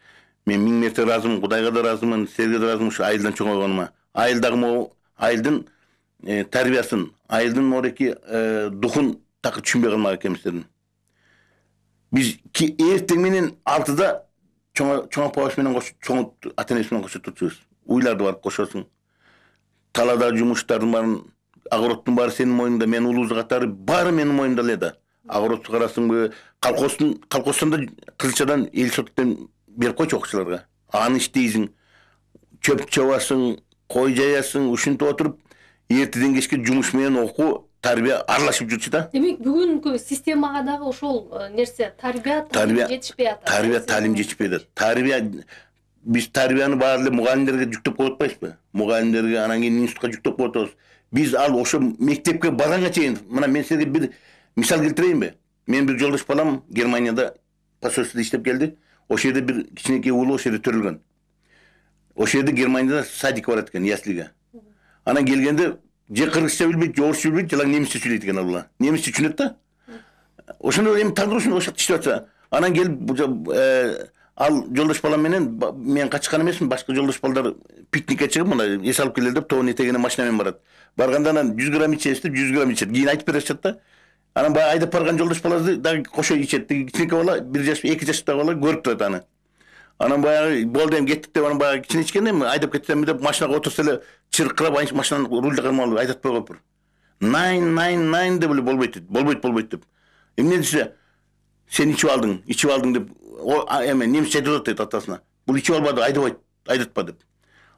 Мен 1000 мерте ыраазымын, Кудайга да ыраазымын, силерге да ыраазымын ушу айылдан чоңойгоnuма. Айылдагы могу айылдын тарбиясын, айылдын мореки духун такыр түшүнбөй калмак экенбиздердин. Биз эртең менен 6-да чоң апабыз менен кошо, чоң ата-энеси менен кошо турчубуз. Уйларды барып кошосуң. Таладагы жумуштардын баарын, огороддун баары сенин мойнуңда, менин улуузу катары баары менин мойнумда эле да. Огородду карасыңбы, колхоздон да кызылчадан эл соттон берип койчу окуучуларга. Аны иштейсиң, чөп чабасың, кой жаясың, ушинтип отуруп, эртеден кечке жумуш менен окуу, тарбия аралашып жүрчү да. Демек, бүгүнкү системага дагы ошол нерсе тарбия жетишпей атат. Тарбия талим жетишпей атат. Тарбия биз тарбияны баары эле мугалимдерге жүктөп коюп атпайбызбы? Мугалимдерге, анан кийин институтка жүктөп коюп атабыз. Биз ал ошо мектепке барганга чейин, мына мен силерге бир мисал келтирейинби? Мен бир жолдош балам Германияда посольстводо иштеп келди. Ошол жерде бир кичинекей уулу ошол жерде төрөлгөн. Ошол жерде Германияда садикке барат экен, яслиге. Анан келгенде же кыргызча билбейт, же орусча билбейт, жалаң немисче сүйлөйт экен ал бала. Немисче түшүнөт да. Ошондо эми тагдыр ошондо иштеп атса, анан келип ал жолдош балам менен мен качкан эмесмин, башка жолдош балдар пикникке чыгып, мына эс алып келели деп тоонун этегине машина менен барат. Барганда анан 100 грамм ичебиз деп 100 грамм ичет. Кийин айтып беришет да. Анан баягы айдап барган жолдош баласы дагы кошо ичет. Кичинекей бала, 1 жаш, 2 жаштагы бала көрүп турат аны. Анан баягы болду эми кеттик деп анан баягы кичине ичкен эми айдап кетсем деп машинага отурса эле чыркырап машинанын рульди кармалып айдатпай коюптур. Найн деп эле болбойт деп. Эмне десе, сен ичип алдың деп эме немисче айтып атат дейт атасына. Бул ичип албады, айдатпа деп.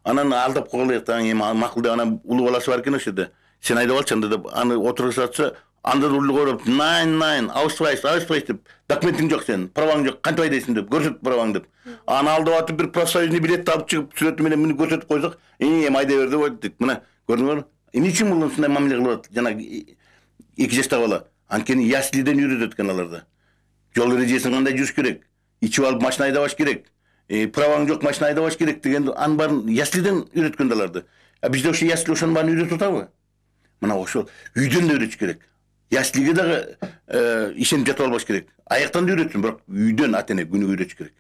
Анан алдап койгула эми макул деп анан улуу баласы бар экен ошол жерде. Сен айдап алчы анда деп аны отургузатса, анда рульди коюп, найн, аусвайс деп. Документиң жок сен, праваң жок, кантип айдайсың деп, көрсөт праваң деп. Аны алдап атып бир профсоюзный билетти алып чыгып, сүрөтү менен муну көрсөтүп койсок, эми айдай бер деп айттык. Мына, көрдүңөрбү? Эмне үчүн бул ушундай мамиле кылып атат? Жана 2 жаштагы бала. Анткени яслиден үйрөтөт экен аларды. Жол эрежесин кандай жүрүш керек? Ичип алып машина айдабаш керек. Праваң жок, машина айдабаш керек деген анын баарын яслиден үйрөткөн аларды. Бизде ошо ясли ошонун баарын үйрөтүп атабы? Мына ошол үйдөн да үйрөтүш керек. Яслиге дагы ишенип жатып албаш керек. Аяктан да үйрөтсүн, бирок үйдөн ата-эне күнүгө үйрөтүш керек.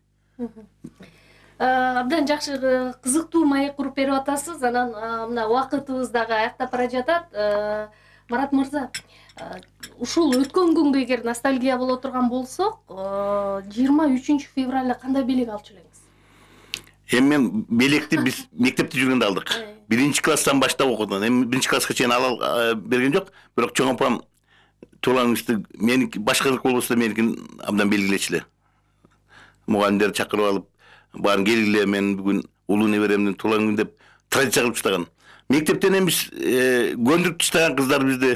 Абдан жакшы, кызыктуу маек куруп берип атасыз. Анан мына убакытыбыз дагы аяктап бара жатат. Марат мырза, ушул өткөн күнгө эгер ностальгия боло турган болсок, 23 февралда кандай белек алчу элеңиз? Эми мен белекти биз мектепте жүргөндө алдык. 1-класстан баштап окудум. Эми 1-класска чейин ала берген жок, бирок чоң апам туулаңызды меники башкалык болбосо меникин абдан белгилечиле. Мугалимдерди чакырып алып, баарын келгиле, мен бүгүн улуу неберемдин туулган күнү деп традиция кылып таштаган. Мектептен эми биз көндүрүп таштаган кыздар бизди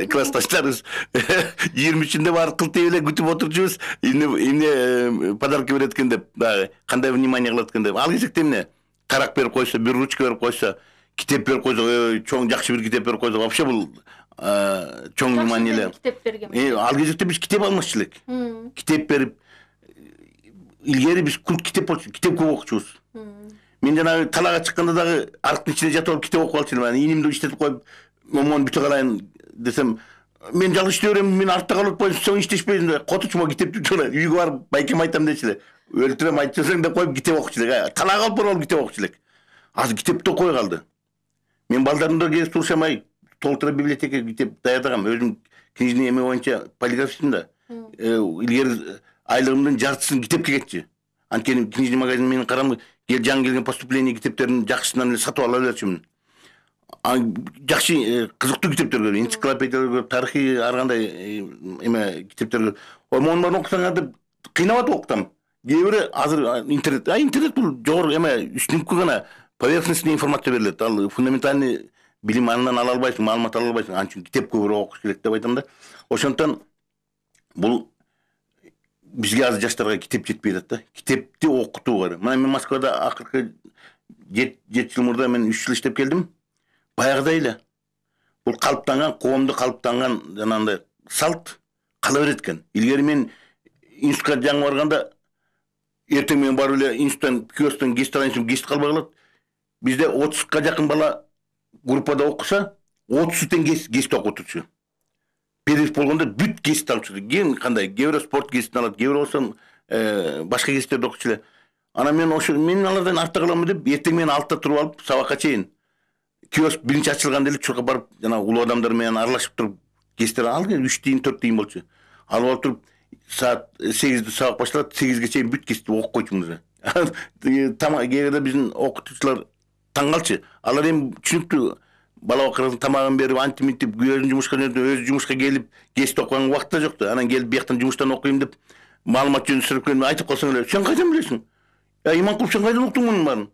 классташтарыбыз 23-нде баары кылтый эле күтүп отурчубуз. Эмне подарка берет экен деп, дагы кандай внимание кылат экен деп. Ал кезекте эмне? Тарак берип койсо, бир ручка берип койсо, китеп берип койсо, чоң жакшы бир китеп берип койсо, вообще бул чоң внимание эле. Китеп берген. Ал кезекте биз китеп алмакчы элек. Китеп берип, илгери биз культ китеп болчу, китеп көп окучубуз. Мен жанагы талаага чыкканда дагы арктын ичине жатып алып китеп окуп алчу элем. Инимди иштетип коюп, момон бүтө калайын десем, мен жалгыз иштей берем, мен артта калып атпайсың, сен иштешпейсиң деп, котучума китепти жана үйгө барып байкем айтам дечи эле. Өлтүрөм айтсаң деп коюп китеп окучу элек. Талаага алып барып китеп окучу элек. Азыр китепти окуй калды. Мен балдарымды келип турушамай, толтура библиотекага китеп даярдагам. Өзүм книжный эме боюнча полиграфистмин да. Илгери айлыгымдын жартысын китепке кетчи. Анткени книжный магазин менин карам жаңы келген поступление китептерин жакшысынан эле сатып ала берчүмүн. Жакшы кызыктуу китептер көрөм, энциклопедиялар көрөм, тарыхый ар кандай эме китептер. Монун баарын окусаңар деп кыйнап атып окутам. Кээ бири азыр интернет бул жогору эме үстүнкү гана поверхностный информация берилет. Ал фундаментальный билим андан ала албайсың, маалымат ала албайсың. Анын үчүн китеп көбүрөөк окуш керек деп айтам да. Ошондон бул бизге азыр жаштарга китеп жетпей атат да. Китепти окутуу керек. Мына мен Москвада акыркы 7 жыл мурда мен 3 жыл иштеп келдим. Баягыдай эле. Бул калыптанган, коомдо калыптанган жанагындай салт кала берет экен. Илгери мен институтка жаңы барганда эртең менен барып эле институттан киосктон кесип алайын, кесип калбай калат. Бизде 30га жакын бала группада окуса, 30-тен кесип окутучу. Перерыв болгондо бүт кесип алчу. Ким кандай? Кээ бирөө спорт кесип алат, кээ бирөө болсо башка кесиптерди окучу эле. Ана мен алардан артта каламын деп эртең менен 6-та туруп алып сабакка чейин киоск биринчи ачылганда эле чуркап барып жана улуу адамдар менен аралашып туруп кесиптер ал 3 тийин 4 тийин болчу. Алып алып туруп саат 8-де сабак башталат, 8-ге чейин бүт кесипти окуп койчумуз. Кээ бирде биздин окутуучулар таң калчу. Алар эми түшүнүктүү бала бакырдын тамагын берип, антиминтип, өзүнүн жумушка өзү жумушка келип, кесип окуган убакыт да жок да. Анан келип бияктан жумуштан окуйм деп маалымат жөнүндө сурап келип айтып калсаң эле, сен кайдан билесиң? Иманкул, сен кайдан уктуң мунун баарын?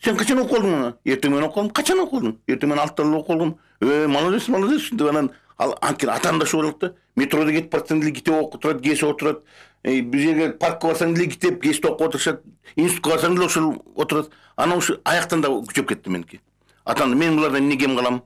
Сен качан окуп алдың муну? Эртең менен окудум. Качан окудуң? Эртең менен 6-та окуп алдым. Молодец деп анан анткени атам да шулат да. Метрода кетип барсаң деле китеп окуп турат, кесип отурат. Бир жерге паркка барсаң деле китеп, кесип окуп отурушат. Институтка барсаң деле ошол отурат. Анан ушу аяктан да күчөп кетти меники. Атам мен булардан эмне кем калам?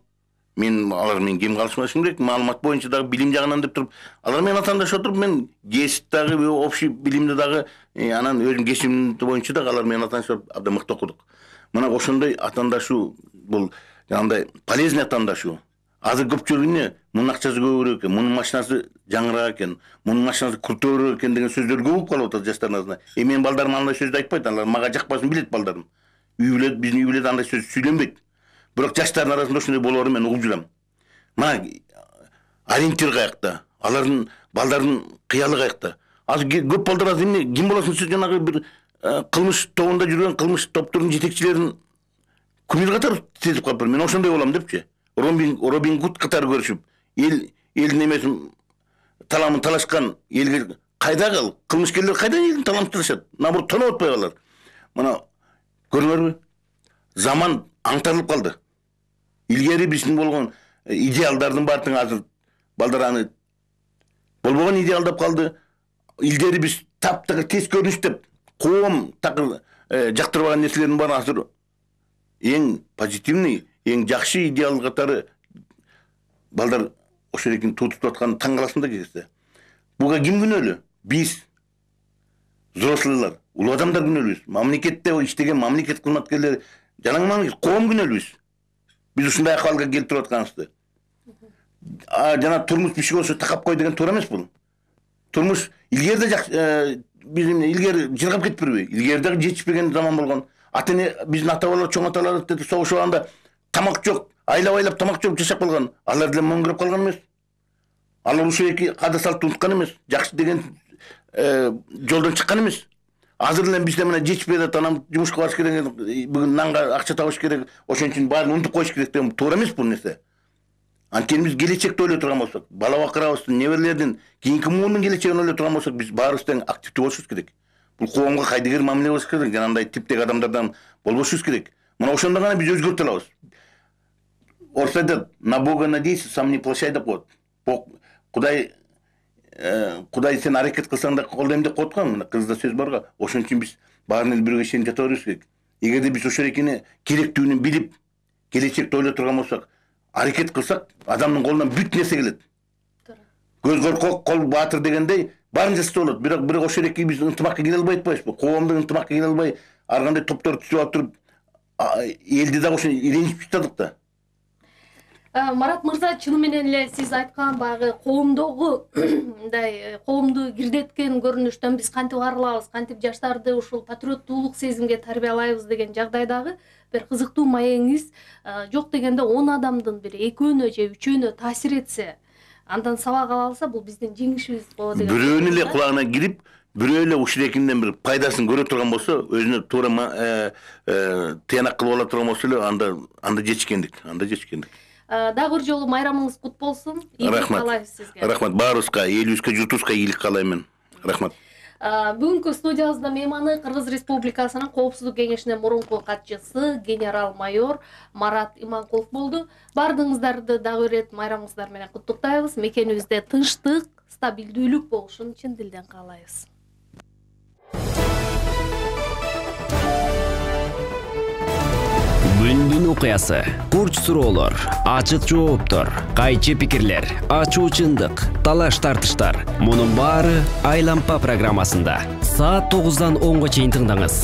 Алар менен кем калышмашым керек. Маалымат боюнча дагы билим жагынан деп туруп, алар менен атаандашып отуруп, мен кесип дагы, общий билимди дагы, анан өзүм кесибим боюнча дагы алар менен атаандашып абдан мыкты окудук. Мына ошондой атаандашуу бул жандай полезный атаандашуу. Азыр көпчүлүгүнө мунун акчасы көбүрөөк экен, мунун машинасы жаңыраак экен, мунун машинасы куртуурөөк экен деген сөздөр көп болуп калып атат жаштардын арасында. Менин балдарым андай сөздү айтпайт, алар мага жакпасын билет балдарым. Биздин үй бүлөдө андай сөз сүйлөнбөйт. Бирок жаштардын арасында ошондой болоорун мен угуп жүрөм. Мына ориентир каякта, алардын балдардын кыялы каякта. Азыр көп балдар азыр эмне ким болосуң сиз, жанагы бир кылмыш тобунда жүргөн кылмыш топтордун жетекчилерин күмүр катары сезип калыптыр. Мен ошондой болом депчи. Робин Гуд катары көрүшүп, элдин эмесин таламын талашкан элге кайдагы кылмышкерлер кайдан элдин таламын талашат? Наоборот, тоноп атпай калар. Мына көрүңөрбү? Заман аңтарылып калды. Илгери биздин болгон идеалдардын баардыгы азыр балдар аны болбогон идеалдап калды. Илгери биз таптагы тез көрүнүш деп коом такыр жактырбаган нерселердин баары азыр эң позитивный, эң жакшы идеал катары балдар ошол экен тутуп аткан таң каласың да кезде. Буга ким күнөөлүү? Биз взрослыйлар, улуу адамдар күнөөлүүбүз. Мамлекетте иштеген мамлекет кызматкерлери, жанагы мамлекет коом күнөөлүүбүз. Биз ушундай акыбалга келип туруп атканыбызды. Жана турмуш биши болсо такап кой деген туура эмес бул. Турмуш илгери да жакшы, биздин илгери жыргап кетпирби? Илгери дагы жетишпеген заман болгон. Ата-эне биздин ата-бабалар, чоң аталар согушуп алганда тамак жок, айлап тамак жеп жашап калган. Алар деле мөңгүрөп калган эмес. Алар ушул эки када салтты унуткан эмес. Жакшы деген жолдон чыккан эмес. Азыр эле бизде мына жетишпей атат, анан жумушка барыш керек, бүгүн нанга акча табыш керек, ошон үчүн баарын унутуп коюш керек деген туура эмес бул нерсе. Анткени биз келечекти ойлой турган болсок, бала бакырабыздын, неберелердин, кийинки муунун келечегин ойлой турган болсок, биз баарыбыз тең активдүү болушубуз керек. Бул коомго кайдыгер мамиле кылыш керек, жанагындай типтеги адамдардан болбошубуз керек. Мына ошондо гана биз өзгөртө алабыз. Орусча айтат, на Бога надейся, сам не плашай деп коет. Кудай сен аракет кылсаң да колдойм деп коет го, мына кызда сөз барга. Ошон үчүн биз баарын эле бирге ишенип жата беришибиз керек. Эгерде биз ошол экени керектүүнү билип, келечекти ойлой турган болсок, аракет кылсак, адамдын колунан бүт нерсе келет. Көз коркок, кол баатыр дегендей баарын жасаса болот. Бирок ошол эки биз ынтымакка келе албай атпайбызбы? Коомдук ынтымакка келе албай, ар кандай топтор түзүп алып туруп, элди дагы ошо иреничип жатадык да. Марат мырза, чыны менен эле сиз айткан баягы коомдогу мындай коомду кирдеткен көрүнүштөн биз кантип арылабыз, кантип жаштарды ушул патриоттуулук сезимге тарбиялайбыз деген жагдайдагы бир кызыктуу маегиңиз жок дегенде 10 адамдын бир 2-өө же 3-өө таасир этсе, андан сабак ала алса, бул биздин жеңишибиз болот деген. Бирөөнүн эле кулагына кирип, бирөө эле ушул экинен бир пайдасын көрө турган болсо, өзүнө туура тыянак кылып ала турган болсо эле, анда жетишкендик. Дагы бир жолу майрамыңыз кут болсун. Ийгилик каалайбыз сизге. Рахмат баарыбызга, элибизге, журтубузга ийгилик каалайм мен. Рахмат. Бүгүнкү студиябызда мейманы Кыргыз Республикасынын Коопсуздук кеңешинин мурунку катчысы генерал-майор Марат Иманкулов болду. Бардыгыңыздарды дагы бир майрамыңыздар менен куттуктайбыз. Мекенибизде тынчтык, стабилдүүлүк болушун чын дилден каалайбыз. Күндүн окуясы, курч суроолор, ачык жооптор, кайчы пикирлер, ачуу чындык, талаш тартыштар. Мунун баары Айлампа программасында. Саат 9-дан 10-га чейин тыңдаңыз.